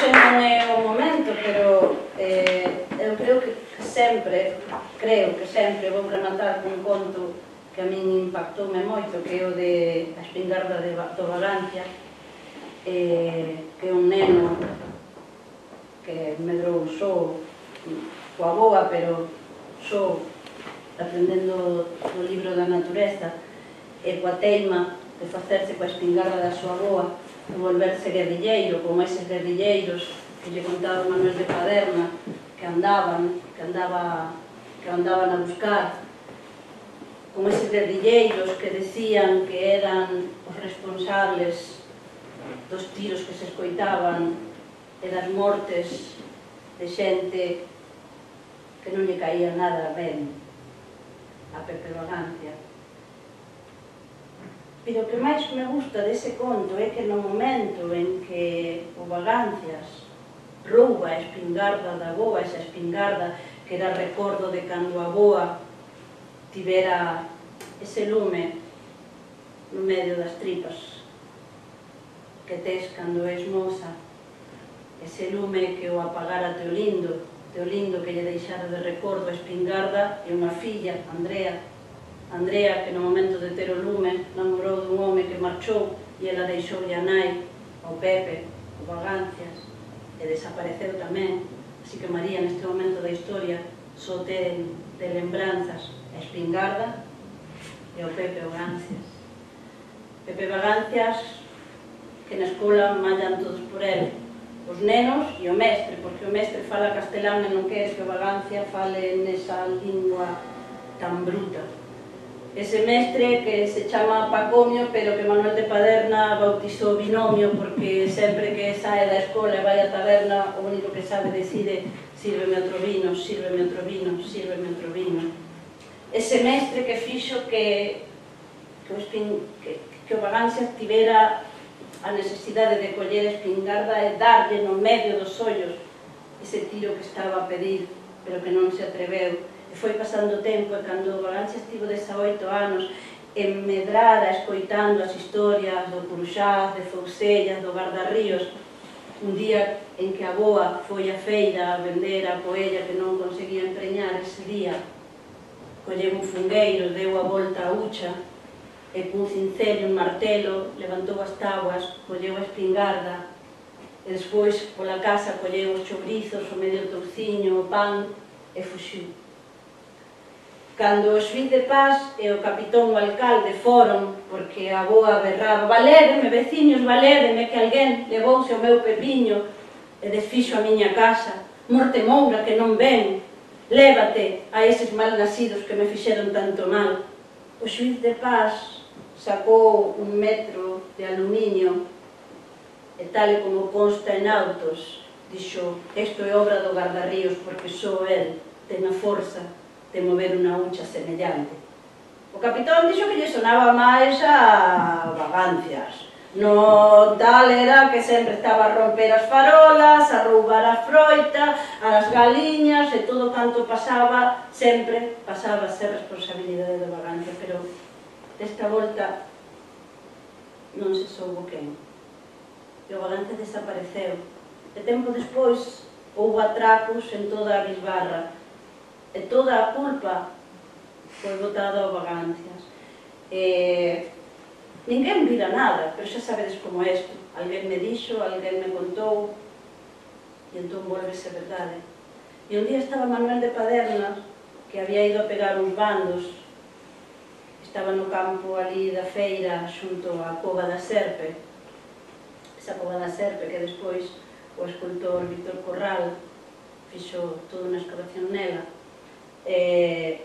hoxe non é o momento, pero eu creo que sempre vou rematar cun conto que a min impactoume moito, que é o de A espingarda do Vagancia, que é un neno que medrou só coa boa, pero só aprendendo o libro da natureza e coa teima de facerse coa espingarda da súa boa, de volverse guerrilleiro, como eses guerrilleiros que lle contaba Manuel de Paderna, que andaban a buscar, como eses guerrilleiros que decían que eran os responsables dos tiros que se escoitaban e das mortes de xente que non lle caía nada ben a Pepe Vagancia. Pero o que máis me gusta dese conto é que no momento en que o Vagancias rouba a espingarda da boa, esa espingarda que era recordo de cando a boa tivera ese lume no medio das tripas que tes cando és moza, ese lume que o apagara Teolindo que lle deixara de recordo a espingarda e unha filla, Andrea, que no momento de ter o lume namorou dun home que marchou e ela deixoulle a nai ao Pepe, o Vagancias, e desapareceu tamén. Así que María, neste momento da historia, só ten de lembranzas a espingarda e o Pepe Vagancias. Pepe Vagancias, que na escola mallan todos por ele, os nenos e o mestre, porque o mestre fala castelán e non quere que o Vagancia fale nesa lingua tan bruta. Ese mestre que se chama Pacomio, pero que Manuel de Paderna bautizou Binomio, porque sempre que sae da escola e vai á taberna, o único que sabe decide: sírveme outro vino, sírveme outro vino, sírveme outro vino. Ese mestre que fixo que o Vagancia tivera a necesidade de coller a espingarda e darlle no medio dos ollos ese tiro que estaba a pedir, pero que non se atreveu. E foi pasando o tempo, e cando o Vagancia estivo 18 anos en Medrada, escoitando as historias do Curuxás, de Foucellas, do Gardarríos, un día en que a boa foi á feira a vender a poella que non conseguía empreñar ese día, colleu un fungueiro, deu a volta a hucha, e cun cincel e un martelo levantou as tabuas, colleu a espingarda, e despois pola casa colleu os chobrizos, o medio touciño, o pan, e fuxiu. Cando o xuíz de paz e o capitón o alcalde foron, porque a boa berraba: valédeme, veciños, valédeme, que alguén levouse o meu pepiño e desfixo a miña casa, morte moura que non ven, lévate a eses malnacidos que me fixeron tanto mal. O xuíz de paz sacou un metro de aluminio e tal e como consta en autos, dixo: isto é obra do Gardarríos, porque só el ten a forza de mover unha hucha semellante. O capitón dixo que lle sonaba máis a Vagancias. No tal era que sempre estaba a romper as farolas, a roubar a froita, as galiñas e todo canto pasaba, sempre pasaba a ser responsabilidade do Vagancia, pero desta volta non se soubo quen. E o Vagancia desapareceu. E tempo despois houbo atracos en toda a bisbarra e toda a culpa foi botada ao Vagancias. Ninguén vira nada, pero xa sabedes como é isto. Alguén me dixo, alguén me contou, e entón volvese verdade. E un día estaba Manuel de Paderna, que había ido a pegar uns bandos, estaba no campo ali da feira xunto á Cova da Serpe, esa Cova da Serpe que despois o escultor Víctor Corral fixo toda unha excavación nela, e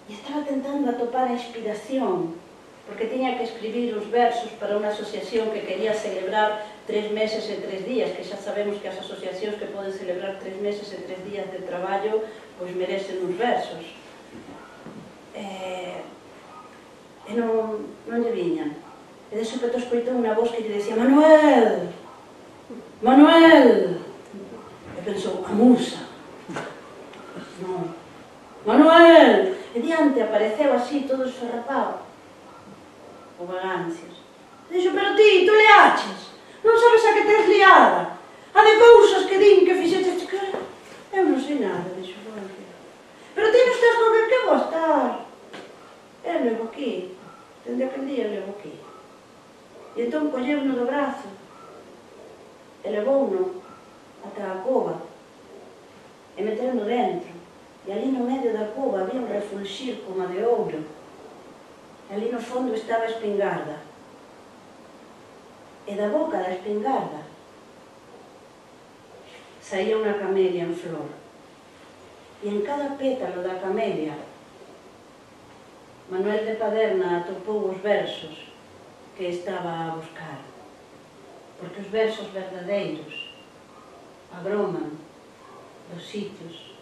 estaba tentando atopar a inspiración, porque tiña que escribir os versos para unha asociación que quería celebrar 3 meses e 3 días, que xa sabemos que as asociacións que poden celebrar 3 meses e 3 días de traballo pois merecen uns versos. E non lle viñan. E de súpeto escoitou unha voz que lle decía: Manuel! Manuel! E pensou: a musa. Non. Manuel! E diante apareceu así, todo esfarrapado, o Vagancias. E dixo: pero ti, tu leaches? Non sabes a que tes liada? levouno ata a cova e meteuno dentro. E ali no medio da cova había un refulxir como de ouro. E ali no fondo estaba a espingarda. E da boca da espingarda saía unha camelia en flor. E en cada pétalo da camelia Manuel de Paderna atopou os versos que estaba a buscar. Porque os versos verdadeiros agroman dos sitios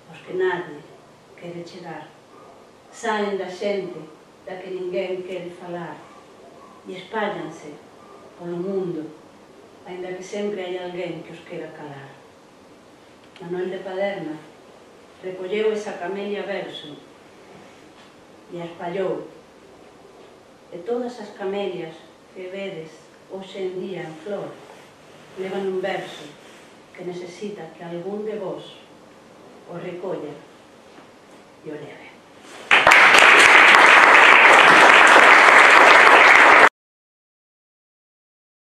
aos que nadie quere chegar. Saen da xente da que ninguén quere falar e espállanse polo mundo, aínda que sempre hai alguén que os quera calar. Manuel de Paderna recolleu esa camelia verso e a espallou. E todas as camelias que vedes hoxe en día en flor levan un verso que necesita que algún de vos o recolla e o leve.